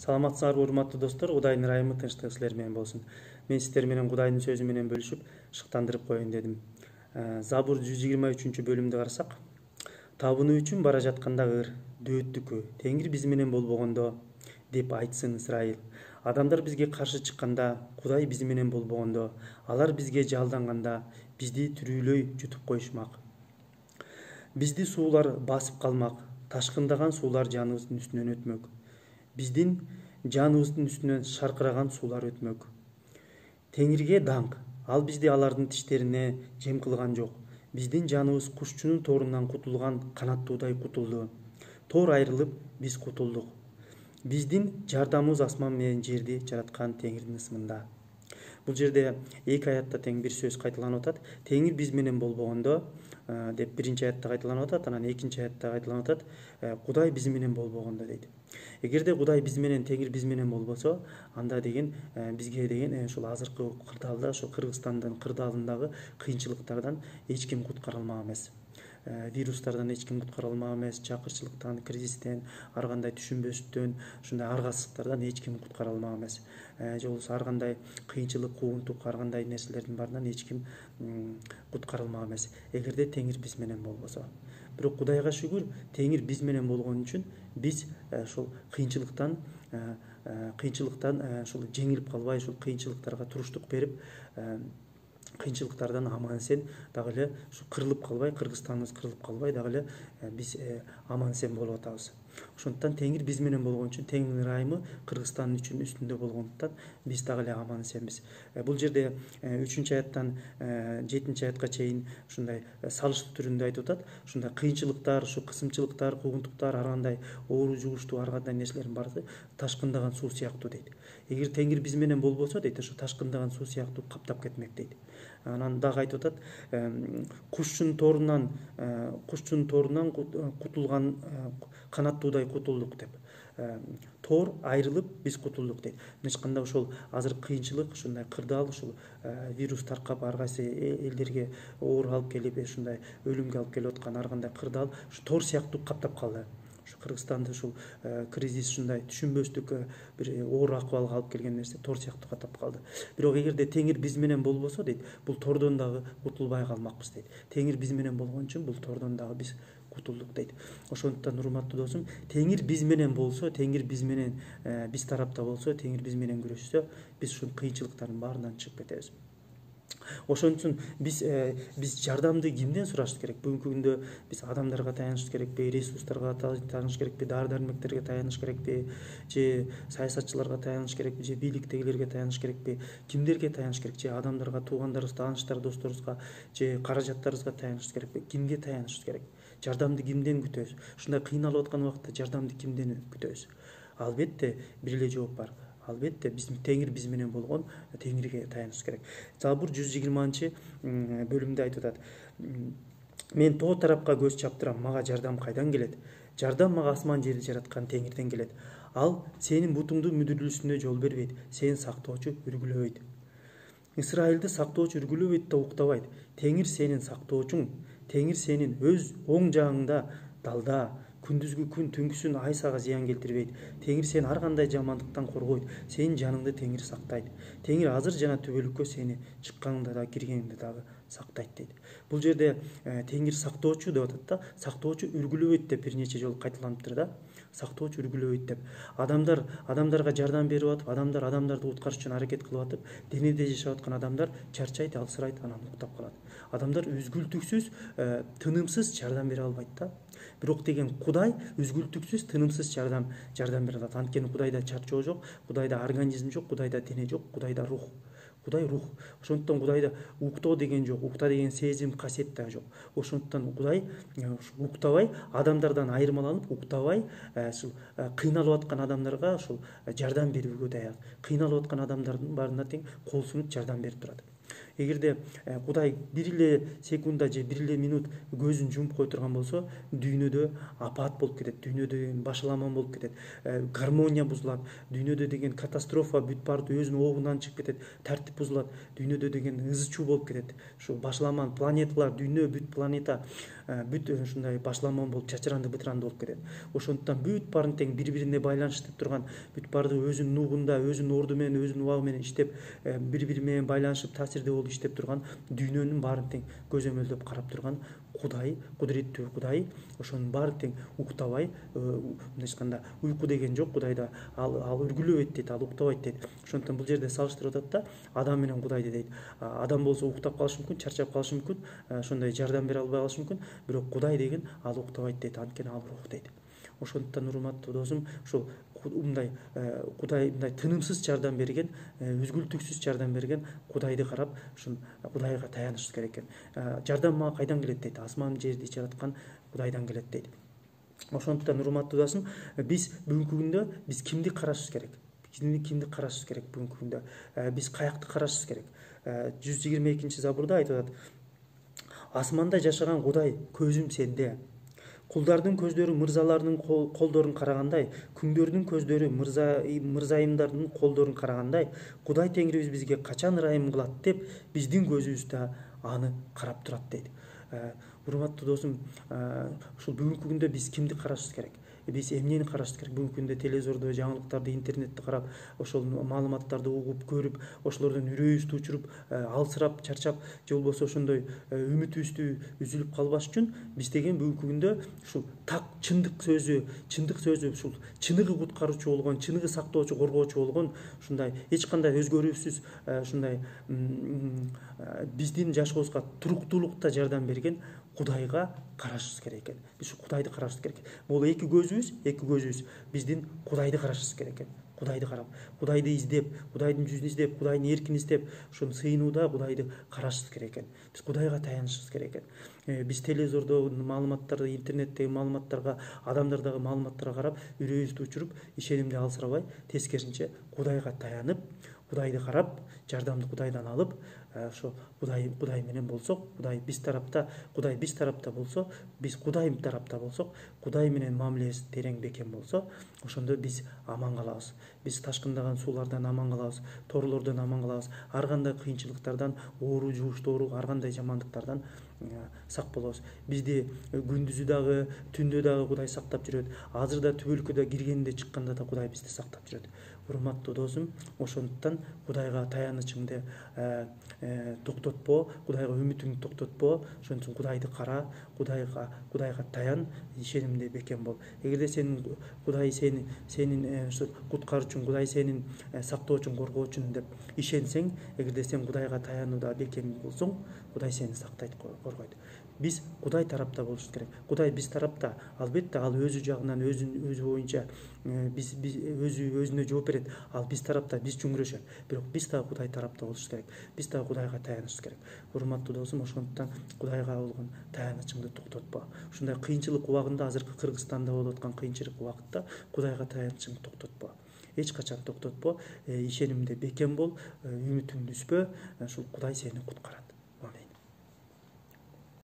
Саламатсыздарбы урматтуу достор, Кудайдын ырайымы, тынчтыгы силер менен болсун. Мен сиздер менен Кудайдын сөзү менен бөлүшүп, шыктандырып коеюн дедим. Забур 123-бөлүмдү карасак, табынуу үчүн бара жаткандагы ыр дөөттүкү, Теңир биз менен болбогондо деп айтсын Исраил. Адамдар бизге каршы чыкканда, Кудай биз менен болбогондо, алар бизге жалданганда, бизди түрүүлөй жутуп коюшмак. Бизди суулар басып калмак, ташкындаган суулар жаныбыздын үстүнөн өтмөк. Биздин жаныбыздын үстүнөн шаркыраган суулар өтмөк. Теңирге даңк, ал бизди алардын тиштерине жем кылган жок. Биздин жаныбыз кушчунун торунан кутулган канаттуудай кутулду. Тор айрылып, биз кутулдук. Биздин жардамыбыз асман менен жерди жараткан Теңирдин ысмында. Бул жерде эки аятта тең бир сөз кайталанып атат. Теңир биз менен болбогондо деп биринчи аятта кайталанып атат, анан экинчи аятта кайталанып атат. Кудай биз менен болбогондо дейт. Эгерде Кудай биз менен, Теңир биз менен болбосо, анда деген бизге деген ушул азыркы кырдаалда, ошо Кыргызстандын кырдаалындагы кыйынчылыктардан эч ким куткара алмак эмес. Вирустардан эч ким куткара алмак эмес, чакырчылыктан, кризистен, ар кандай түшүнбөстөн, ушундай аргасыздыктардан эч ким куткара алмак эмес. Же болбосо ар кандай кыйынчылык, куугунтук, ар кандай нерселердин баарынан эч ким куткара алмак эмес. Эгерде Теңир биз менен болбосо. Бирок Кудайга шүгүр, Теңир биз менен болгон үчүн биз ушул кыйынчылыктан ушул жеңилип калбай, ушул кыйынчылыктарга туруштук берип, кыйынчылыктардан аман эсен дагы эле ушу кырылып калбай, Кыргызстаныбыз кырылып калбай дагы эле биз аман эсен болуп атабыз. Ошондуктан Теңир биз менен болгон үчүн, Теңирдин ырайымы Кыргызстан үчүн үстүндө болгондуктан биз дагы эле аман эсенбиз. Бул жерде 3-аяттан 7-аятка чейин ушундай салыштуу түрүндө айтып атат. Ушундай кыйынчылыктар, ушу кысымчылыктар, куугунтуктар, ар кандай оору жугуштуу, ар кандай нерселердин баары ташкындаган суу сыяктуу дейт. Эгер Теңир биз менен болбосо дейт, ошо ташкындаган суу сыяктуу каптап кетмек дейт. Анан дагы айтып атат, кушчунун торунан кутулган канаттуудай кутулдук деп. Тор айрылып, биз кутулдук дейт. Мындайча айтканда ошол азыр кыйынчылык, ушундай кырдаал, ушул вирус таркап ар кайсы элдерге оор алып келип, ушундай өлүмгө алып келип аткан ар кандай кырдаал ушу тор сыяктуу каптап калды. Ушу Кыргызстанды ушул кризис, ушундай түшүнбөстүк бир оор акыбалга алып келген нерсе тор сыяктуу каптап калды. Бирок эгерде Теңир биз менен болбосо дейт, бул тордон дагы кутулбай калмакпыз дейт. Теңир биз менен болгон үчүн бул тордон дагы биз кутулдук дейт. Ошондуктан урматтуу досум, Теңир биз менен болсо, Теңир биз менен биз тарапта болсо, Теңир биз менен күрөшсө, биз ушул кыйынчылыктардын баарынан чыгып кетебиз. Ошон үчүн биз жардамды кимден сурашыбыз керек? Бүгүнкү күндө биз адамдарга таянышыбыз керекпи, ресурстарга таянышыбыз керекпи, дары-дармектерге таянышыбыз керекпи, же саясатчыларга таянышыбыз керекпи, же бийликтегилерге таянышыбыз керекпи, кимдерге таянышыбыз керек? Же адамдарга, туугандарыбыз, тааныштар, досторубузга, же каражаттарыбызга таянышыбыз керекпи? Кимге таянышыбыз керек? Жардамды кимден күтөбүз? Ушундай кыйналып аткан убакытта жардамды кимден күтөбүз? Албетте бир эле жооп бар. Албетте Теңир биз менен болгон, Теңирге таянышыбыз керек. Забур 120-бөлүмдө айтып атат. Мен тоо тарапка көз чаптырам, мага жардам кайдан келет? Жардам мага асман жерди жараткан Теңирден келет. Ал сенин бутуңду мүдүрүлүшүнө жол бербейт, сени сактоочу үргүлөбөйт. Исраилди сактоочу үргүлөбөйт да уктабайт. Теңир сенин сактоочуң, Теңир сенин өз оң жагыңда далда. Күндүзгү күн, түнкүсүн ай сага зыян келтирбейт. Теңир сени ар кандай жамандыктан коргойт. Сенин жаныңды Теңир сактайт. Теңир азыр жана түбөлүккө сени чыкканыңда да, киргениңде дагы сактайт дейт. Бул жерде Теңир сактоочу деп атат да, сактоочу үргүлөбөйт деп бир нече жолу кайталаныптыр да. Сактоочу үргүлөбөйт деп. Адамдарга жардам берип атып, адамдарды уткарыш үчүн аракет кылып атып, денеде жашап аткан адамдар чарчайт, алсырайт, анан уктап калат. Адамдар үзгүлтүксүз, тынымсыз жардам бере албайт да. Бирок деген Кудай үзгүлтүксүз, тынымсыз жардам бере алат. Анткени Кудайда чарчоо жок, Кудайда организм жок, Кудайда дене жок, Кудайда рух. Кудай рух. Ошондуктан Кудайда уктоо деген жок, укта деген сезим, касиет да жок. Ошондуктан Кудай уктабай, адамдардан айырмаланып, уктабай, ушул кыйналып аткан адамдарга ушул жардам берүүгө даяр. Кыйналып аткан адамдардын баарына тең кол сунуп жардам берип турат. эгерде Кудай бир эле секунда же бир эле минут көзүн жумуп кое турган болсо, дүйнөдө апат болуп кетет, дүйнөдө башаламан болуп кетет, гармония бузулат, дүйнөдө деген катастрофа бүт баарды өзүнүн обунан чыгып кетет, тартип бузулат, дүйнөдө деген ызы чуу болуп кетет. Ушу башаламан планеталар, дүйнө, бүт планета бүт ушундай башаламан болуп чачыранды бытыранды болуп кетет. Ошондуктан бүт баарын тең бири бирине байланыштырып турган, бүт баарды өзүнүн нугунда, өзүнүн орду менен, өзүнүн убагы менен иштеп, бири бири менен байланышып, таасирдүү болуп иштеп турган, дүйнөнүн баарын тең көзөмөлдөп карап турган Кудай, кудуреттүү Кудай, ошонун баарын тең уктабай, мындай айтканда уйку деген жок Кудайда, ал үргүлөбөйт дейт, ал уктабайт дейт. Ошондуктан бул жерде салыштырып атат да, Адам менен Кудайды дейт. Адам болсо уктап калышы мүмкүн, чарчап калышы мүмкүн, ошондой жардам бере албай калышы мүмкүн, бирок Кудай деген ал уктабайт дейт, анткени ал рух дейт. Ошондуктан урматтуу досум, ушул мындай Кудай мындай тынымсыз жардам берген, үзгүлтүксүз жардам берген Кудайды карап, ушул Кудайга таянышыбыз керек экен. Жардам мага кайдан келет дейт? Асман жерди жараткан Кудайдан келет дейт. Ошондуктан урматтуу досум, биз бүгүнкү күндө биз кимди карашыбыз керек? Кимди карашыбыз керек бүгүнкү күндө? Биз каякты карашыбыз керек? 122-забурда айтып атат: асманда жашаган Кудай, көзүм сенде. Кулдардын көздөрү мырзаларынын колдорун карагандай, күңдөрдүн көздөрү мырзайымдардын колдорун карагандай, Кудай Теңирибиз бизге качан ырайым кылат деп, биздин көзүбүз да аны карап турат дейт. Урматтуу досум, ушул бүгүнкү күндө биз кимди карашыбыз керек? Биз эмнени карашыбыз керек? Бүгүнкү күндө телевизордо, жаңылыктарды, интернетти карап, ошол маалыматтарды угуп, көрүп, ошолордон үрөйүбүздү учуруп, алсырап, чарчап, же болбосо ошондой үмүтүбүздү үзүлүп калбаш үчүн биз деген бүгүнкү күндө ушул так чындык сөзү, ушул чыныгы куткаруучу болгон, чыныгы сактоочу, коргоочу болгон, ушундай эч кандай өзгөрүүсүз, ушундай биздин жашообузга туруктуулукта жардам берген Кудайга карашыбыз керек экен. Биз ушу Кудайды карашыбыз керек. Бул эки көзүбүз биздин Кудайды карашыбыз керек экен. Кудайды карап, Кудайды издеп, Кудайдын жүзүн издеп, Кудайдын эркин издеп, ошону сыйынууда Кудайды карашыбыз керек экен. Биз Кудайга таянышыбыз керек экен. Биз телевизордо маалыматтарды, интернеттеги маалыматтарга, адамдардагы маалыматтарга карап, үрөйүбүздү учуруп, ишенимди алсырабай, тескерисинче Кудайга таянып, Кудайды карап, жардамды Кудайдан алып, ошо Кудай менен болсок, Кудай биз тарапта болсо, биз Кудай тарапта болсок, Кудай менен мамилебиз терең бекем болсо, ошондо биз аман калабыз. Биз ташкындаган суулардан аман калабыз, торлордон аман калабыз, ар кандай кыйынчылыктардан, оору, жугуштоору, ар кандай жамандыктардан сак болобуз. Бизди күндүзү дагы, түндө дагы Кудай сактап жүрөт. Азыр да түбөлүккө киргенде, чыкканда да Кудай бизди сактап жүрөт. Урматтуу досум, ошондуктан Кудайга таянычыңды токтотпо, Кудайга үмүтүңдү токтотпо. Ошон үчүн Кудайды кара, Кудайга таян, ишенимде бекем бол. Эгерде Кудай сенин куткаруучуң, Кудай сенин сактоочуң, коргоочуң деп ишенсең, эгерде сен Кудайга таянууда бекем болсоң, Кудай сени сактайт, коргойт. Биз Кудай тарапта болушубуз керек. Кудай биз тарапта, албетте ал өзү жагынан, өзү боюнча өзүнө жооп берет. Ал биз тарапта, биз чүңүрөшөт. Бирок биз дагы Кудай тарапта болушубуз керек. Биз дагы Кудайга таянышыбыз керек. Урматтуу досум, ошондуктан Кудайга болгон таянычыңды токтотпо. Ушундай кыйынчылык убагында, азыркы Кыргызстанда болуп аткан кыйынчылык убакытта Кудайга таянычыңды токтотпо. Эч качан токтотпо. Ишенимде бекем бол, үмүтүңдү үзбө. Ушул Кудай сени куткарат.